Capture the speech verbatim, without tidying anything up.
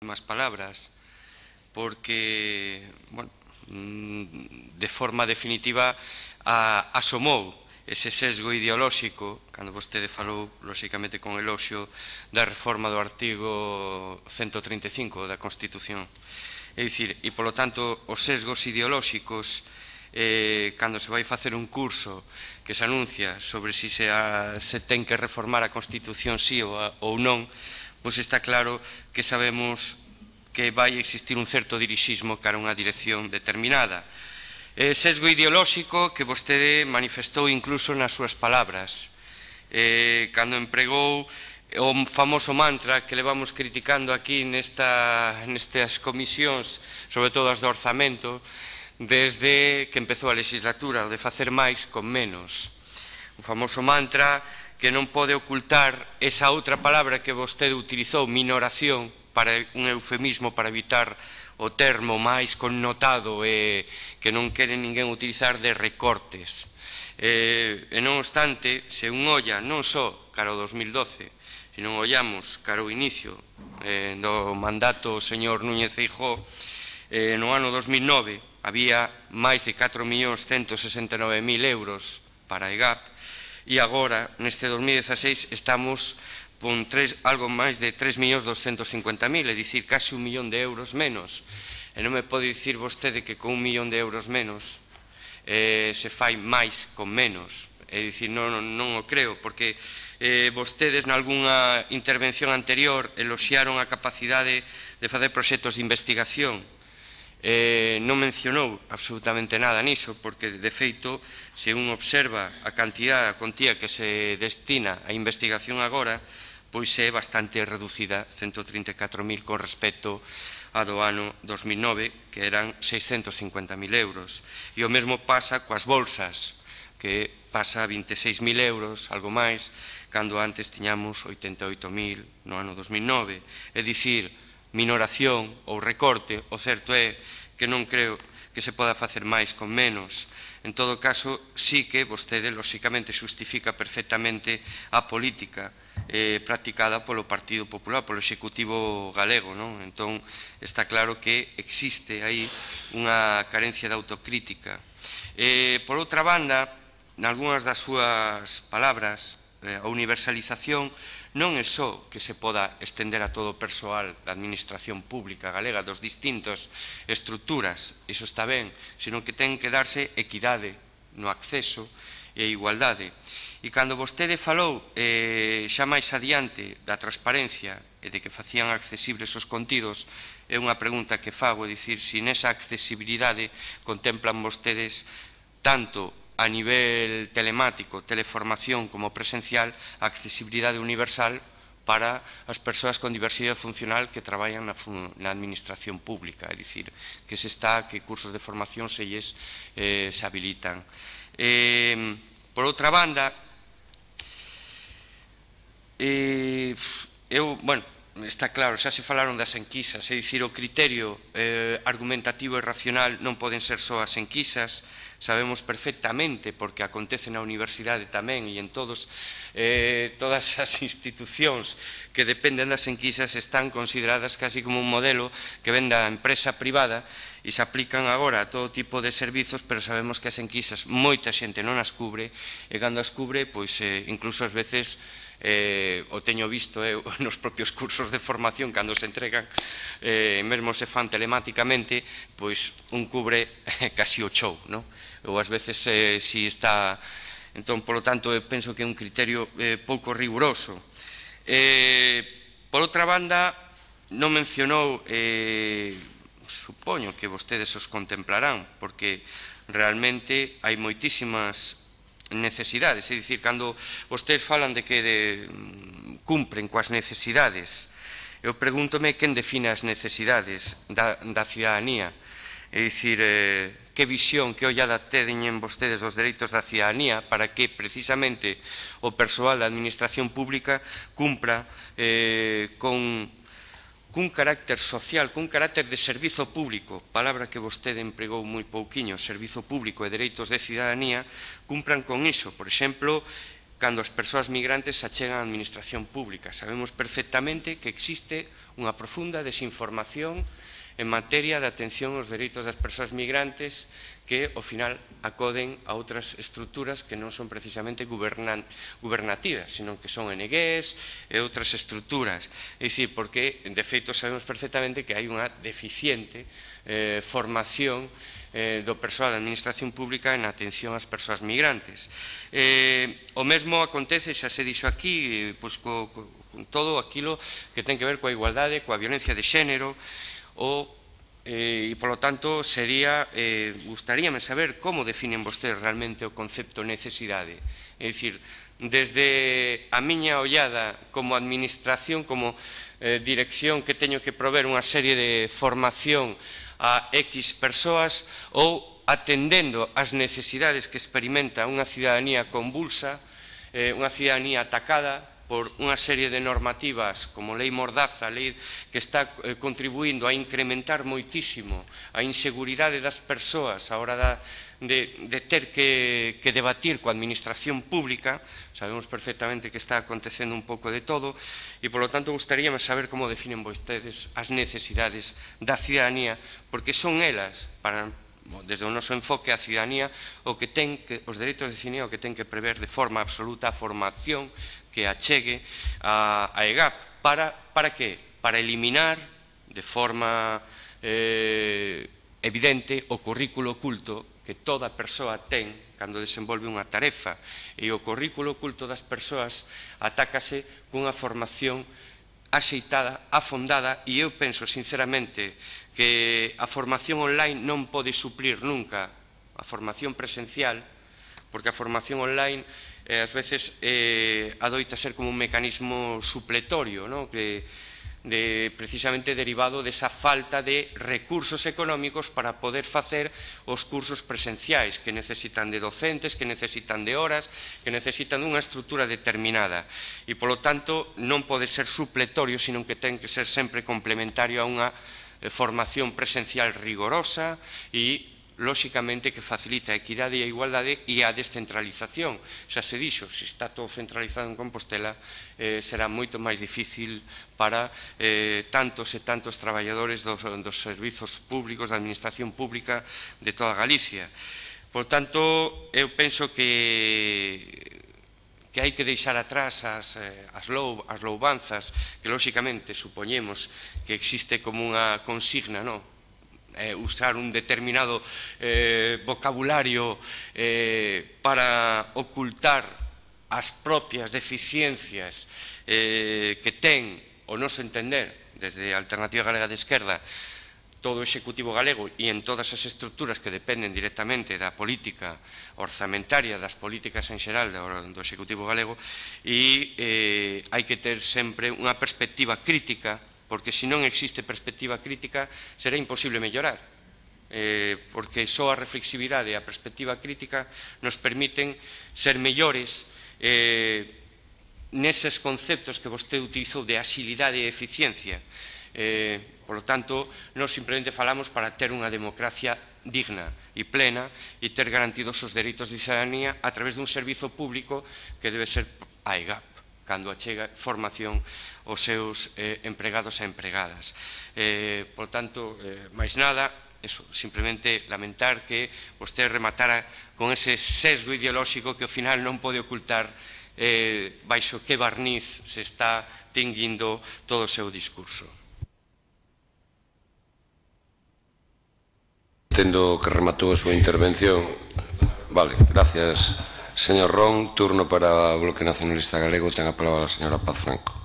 máis palabras, porque, bueno, de forma definitiva a, asomou ese sesgo ideolóxico cando vostede falou, lóxicamente con eloxio, da reforma do artigo ciento treinta e cinco da Constitución. É dicir, e polo tanto, os sesgos ideolóxicos, eh, cando se vai facer un curso que se anuncia sobre si se, a, se ten que reformar a Constitución sí ou, a, ou non, pois está claro que sabemos que vai existir un certo dirixismo cara a unha dirección determinada. Eh, sesgo ideolóxico que vostede manifestou incluso nas súas palabras, eh, cando empregou o famoso mantra que levamos criticando aquí nesta, nestas comisións, sobre todo as do orzamento, desde que empezou a legislatura, o de facer máis con menos. Un famoso mantra que non pode ocultar esa outra palabra que vostede utilizou, minoración, para un eufemismo para evitar o termo máis connotado e que non quere ninguén utilizar de recortes. E, e non obstante, se un olla non só cara ao dos mil doce, se non ollamos cara ao inicio eh, do mandato do señor Núñez Feijóo, eh, no ano dos mil nove había máis de catro millóns ciento sesenta e nove mil euros para a E G A P e agora, neste dos mil dieciséis, estamos con tres, algo máis de tres millóns doscientos cincuenta mil, é dicir, casi un millón de euros menos. E non me pode dicir vostede que con un millón de euros menos eh, se fai máis con menos. É dicir, non, non, non o creo, porque eh, vostedes nalgúnha intervención anterior eloxiaron a capacidade de facer proxectos de investigación. Eh, non mencionou absolutamente nada niso, porque de feito, se un observa a cantidad, a contía que se destina a investigación agora, pois é bastante reducida, ciento trinta e catro mil con respecto a do ano dos mil nove, que eran seiscentos cincuenta mil euros. E o mesmo pasa coas bolsas, que pasa a vinte e seis mil euros, algo máis, cando antes tiñamos oitenta e oito mil no ano dos mil nove. É dicir, minoración ou recorte, o certo é que non creo que se poda facer máis con menos. En todo caso, sí que vostede, lóxicamente, justifica perfectamente a política eh, practicada polo Partido Popular, polo Executivo galego, non? Entón, está claro que existe aí unha carencia de autocrítica. Eh, por outra banda, nalgúnas das súas palabras, eh, a universalización non é só que se poda estender a todo o persoal da administración pública galega dos distintas estruturas, iso está ben, senón que ten que darse equidade no acceso e igualdade. E cando vostede falou eh, xa máis adiante da transparencia e de que facían accesibles os contidos, é unha pregunta que fago, é dicir, se nesa accesibilidade contemplan vostedes tanto a nivel telemático, teleformación como presencial, a accesibilidade universal para as persoas con diversidade funcional que traballan na, na administración pública, é dicir, que se está, que cursos de formación se lles eh, se habilitan. Eh, por outra banda, eh, eu, bueno, está claro, xa se falaron das enquisas, é dicir, o criterio eh, argumentativo e racional non poden ser só as enquisas. Sabemos perfectamente, porque acontece na universidade tamén e en todos, eh, todas as institucións que dependen das enquisas están consideradas casi como un modelo que ven da empresa privada e se aplican agora a todo tipo de servizos, pero sabemos que as enquisas moita xente non as cubre e cando as cubre, pois eh, incluso ás veces Eh, o teño visto eu eh, nos propios cursos de formación cando se entregan eh, mesmo se fan telemáticamente, pois un cubre eh, casi o show, no? Ou ás veces eh, si está, entón, polo tanto, eu penso que é un criterio eh, pouco riguroso. Eh, por outra banda, non mencionou, eh, supoño que vostedes os contemplarán, porque realmente hai moitísimas necesidades, é dicir, cando vostedes falan de que de, cumpren coas necesidades, eu pregúntome quen define as necesidades da, da ciudadanía, é dicir, eh, que visión, que ollada teñen vostedes dos dereitos da ciudadanía para que precisamente o persoal da administración pública cumpra eh, con cun carácter social, cun carácter de servizo público, palabra que vostede empregou moi pouquiño, servizo público e dereitos de ciudadanía, cumpran con iso. Por exemplo, cando as persoas migrantes se achegan á administración pública. Sabemos perfectamente que existe unha profunda desinformación en materia de atención aos dereitos das persoas migrantes que, ao final, acoden a outras estruturas que non son precisamente gubernativas, sino que son O N Ges e outras estruturas. É dicir, porque, de feito, sabemos perfectamente que hai unha deficiente eh, formación eh, do persoal da administración pública en atención ás persoas migrantes. Eh, o mesmo acontece, xa se dixo aquí, pois, co, co, con todo aquilo que ten que ver coa igualdade, coa violencia de xénero, o, eh, e, polo tanto, sería, eh, gustaríame saber como definen vostedes realmente o concepto necesidade. É dicir, desde a miña ollada como administración, como eh, dirección que teño que prover unha serie de formación a X persoas, ou atendendo as necesidades que experimenta unha cidadanía convulsa, eh, unha cidadanía atacada por unha serie de normativas como Lei Mordaza, lei que está eh, contribuindo a incrementar moitísimo a inseguridade das persoas a hora da, de, de ter que, que debatir coa administración pública. Sabemos perfectamente que está acontecendo un pouco de todo e, polo tanto, gustaríame saber como definen vostedes as necesidades da cidadanía, porque son elas, para desde o noso enfoque a cidadanía, o que ten que, os dereitos de cidadanía o que ten que prever de forma absoluta a formación que achegue a, a EGAP. Para, para que? Para eliminar de forma eh, evidente o currículo oculto que toda persoa ten cando desenvolve unha tarefa, e o currículo oculto das persoas atácase cunha formación axeitada, afondada, e eu penso sinceramente que a formación online non pode suplir nunca a formación presencial, porque a formación online eh, ás veces eh, adoita ser como un mecanismo supletorio, ¿no? que de, precisamente derivado desa falta de recursos económicos para poder facer os cursos presenciais, que necesitan de docentes, que necesitan de horas, que necesitan dunha estrutura determinada, e polo tanto non pode ser supletorio, sino que ten que ser sempre complementario a unha eh, formación presencial rigorosa e lóxicamente que facilita a equidade e a igualdade e a descentralización. Xa se dixo, se está todo centralizado en Compostela, eh, será moito máis difícil para eh, tantos e tantos traballadores dos, dos servizos públicos, da administración pública de toda Galicia. Por tanto, eu penso que que hai que deixar atrás as, as, lou, as loubanzas que lóxicamente supoñemos que existe como unha consigna, non? Eh, usar un determinado eh, vocabulario eh, para ocultar as propias deficiencias eh, que ten o noso entender desde a Alternativa Galega de Esquerda todo o Executivo galego e en todas as estruturas que dependen directamente da política orzamentaria, das políticas en xeral do, do Executivo galego, e eh, hai que ter sempre unha perspectiva crítica, porque se non existe perspectiva crítica será imposible mellorar, eh, porque só a reflexividade e a perspectiva crítica nos permiten ser mellores eh, neses conceptos que vostede utilizou de axilidade e eficiencia. Eh, por lo tanto, non simplemente falamos para ter unha democracia digna e plena e ter garantidos os dereitos de cidadanía a través dun servizo público que debe ser a EGAP, cando achega formación aos seus eh, empregados e empregadas. Eh, por tanto, eh, máis nada, eso, simplemente lamentar que vostede rematara con ese sesgo ideolóxico que ao final non pode ocultar eh, baixo que barniz se está tinguindo todo o seu discurso. Entendo que rematou a súa intervención. Vale, gracias. Señor Ron, turno para o Bloque Nacionalista Galego, ten a palabra a señora Paz Franco.